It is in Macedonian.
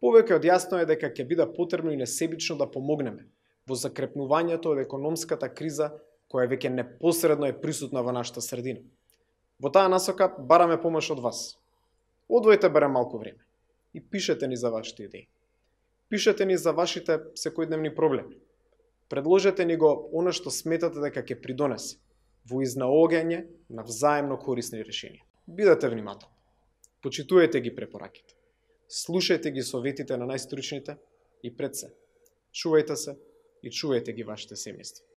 Повеќе од јасно е дека ќе биде потребно и несебично да помогнеме во закрепнувањето од економската криза која веќе непосредно е присутна во нашата средина. Во таа насока бараме помош од вас. Одвојте барем малку време и пишете ни за вашите идеи. Пишете ни за вашите секојдневни проблеми. Предложете ни го она што сметате дека ќе придонесе во изнаоѓање на взаемно корисни решенија. Бидете внимателни. Почитувајте ги препораките. Слушајте ги советите на најстручните и пред се. Чувајте се и чувајте ги вашите семејства.